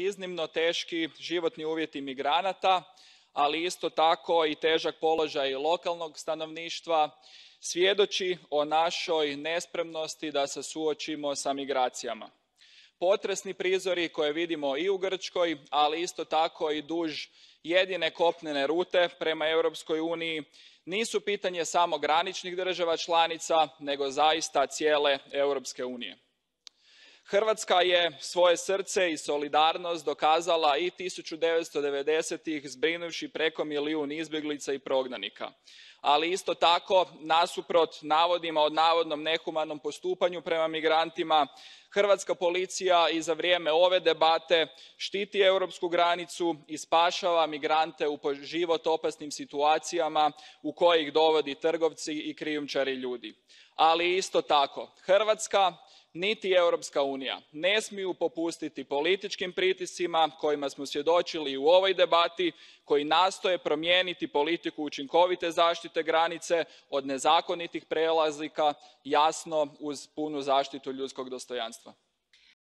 iznimno teški životni uvjeti migranata, ali isto tako i težak položaj lokalnog stanovništva svjedoči o našoj nespremnosti da se suočimo sa migracijama. Potresni prizori koje vidimo i u Grčkoj, ali isto tako i duž jedine kopnene rute prema Europskoj uniji, nisu pitanje samo graničnih država članica, nego zaista cijele Europske unije. Hrvatska je svoje srce i solidarnost dokazala i 1990-ih zbrinuvši preko milijun izbjeglica i prognanika. Ali isto tako, nasuprot navodima o navodnom nehumanom postupanju prema migrantima, hrvatska policija i za vrijeme ove debate štiti europsku granicu i spašava migrante u po život opasnim situacijama u koje ih dovode trgovci i krijumčari ljudi. Ali isto tako, Hrvatska niti Europska unija ne smiju popustiti političkim pritiscima kojima smo svjedočili u ovoj debati, koji nastoje promijeniti politiku učinkovite zaštite granice od nezakonitih prelazaka, jasno uz punu zaštitu ljudskog dostojanstva.